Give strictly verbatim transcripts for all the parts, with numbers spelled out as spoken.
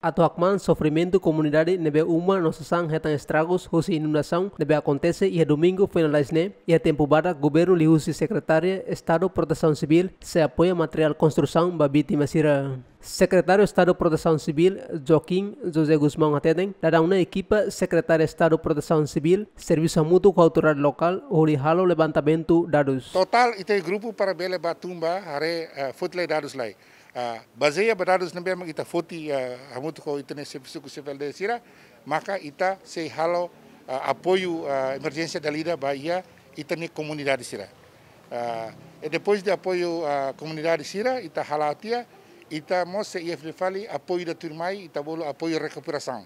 Atu hakmaan sofrimentu komunidade ne'ebé uma no sasán hetan estragus husi inundasaun ne'ebé akontese iha Domingu foin lalais ne'e, iha tempu badak governu liuhusi Sekretária Estadu Protesaun Sivíl sei apoia materiál konstrusaun ba vítima sira. Sekretáriu Estadu Protesaun Sivíl, Joaquim José Gusmão hateten, daudaun ne'e ekipa Sekretária Estadu Protesaun Sivíl servisu hamutuk ho autoridade lokál hodi halo levantamentu dadus. Totál ita grupu para bele ba tun ba haree, eh, foti lai dadus lai. Ah, bazeia ba dadus ne'ebé mak ita foti, ah, hamutuk ho ita-nia servisu ku C V L D sira, maka ita sei halo, ah, apoiu, ah, emerjénsia dala ida ba iha ita-nia komunidade sira. Ah, e depois de apoiu, ah, komunidade sira, ita hala'o tiha, ita mós sei iha fali apoiu ida tuirmai, ita bolu apoiu rekuperasaun.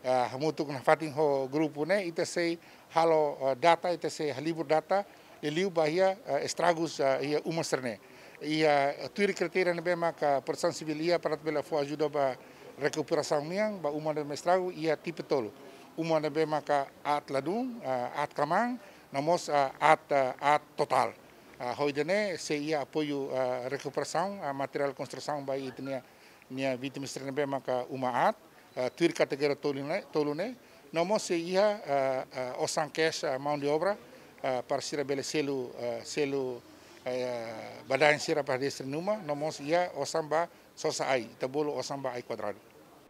Ah, hamutuk nafatin ho grupu ne'e, ita sei halo, ah, data, ita sei halibur data, liuliu ba iha, ah, estragus, ah, iha uma sira-ne'e. Iha, ah, tuir kritéria ne'ebé maka Protesaun Sivíl iha para bele fó ajuda ba rekuperasaun nian, ba uma ne'ebé estragu, iha tipe tolu. Uma ne'ebé maka aat ladún, ah, aat kmaan, no mós, ah, aat, ah, aat totál. Ah, ho ida-ne'e sei iha apoiu, ah, rekuperasaun, ah, materiál konstrusaun ba ita-nia, nia vítima sira ne'ebé maka uma aat, ah, tuir kategoria tolu ne'e, tolu ne'e. No mós sei iha, ah, ah, osan cash, ah, mão de obra, ah, para sira bele selu, ah, selu, eh, badaen sira para destinu uma, no mós iha osan ba sosa ai, ita bolu osan ba ai kuadradu.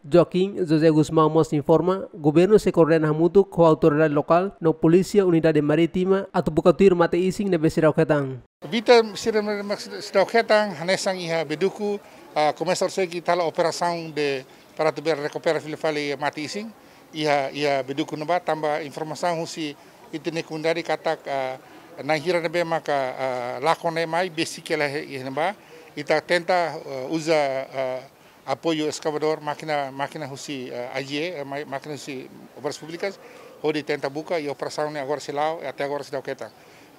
Joaquim José Gusmão mós informa, governu sei koordena hamutuk ho autoridade lokál no Polísia Unidade Marítima atu buka tuir mate-isin ne'ebé seidauk hetan. Vítima sira ne'ebé mak seidauk hetan, hanesan iha Beduku, ah, komesa horisehik ita halo operasaun de para atu bele rekupera fila fali mate-isin, iha, iha Beduku ne'ebá, tanba informasaun husi ita-nia komunidade katak, ah, na'in hira ne'ebé maka, ah, lakon ne'e mai, besik hela iha ne'ebá, ita tenta, ah, uza, ah, apoiu eskavadór, mákina, mákina husi, eh, A G E, eh, ma-, mákina husi Obras Públikas, hodi tenta buka, i operasaun ne'e agora sei la'o, i até agora seidauk hetan.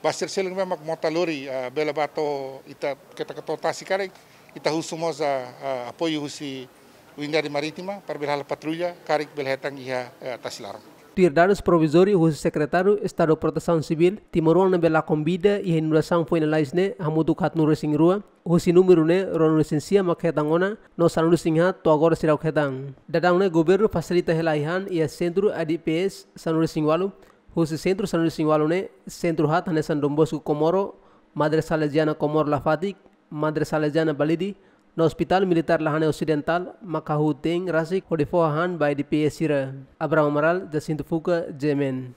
Ba sira seluk ne'ebé mak mota lori, eh, bele ba to'o ita, keta ka to'o tasi karik, ita husu mós, eh, eh, apoiu husi Unidade Marítima, para bele halo patrulla, karik bele hetan iha, eh, tasi laran. Tuir dadus provizóriu husi Sekretáriu Estadu Protesaun Sivíl, timoroan ne'ebé lakon vida iha inundasaun foin lalais ne'e hamutuk haatnulu-resin-rua, husi númeru ne'e ruanulu-resin-sia mak hetan ona, no sanulu-resin-haat to'o agora seidauk hetan. Daudaun ne'e governu fasilita hela ai-han iha sentru A D P S sanulu-resin-ualu, husi sentru sanulu-resin-ualu ne'e, sentru haat hanesan Don Bosco Comoro, Madre Salesiana Comoro Lafatik, Madre Salesiana Balide, no Hospital Militár Lahane Osidentál, maka hahú te'in rasik hodi fó hahán ba A D P S sira. Abraham Amaral, Jacinto Fuca, G M N.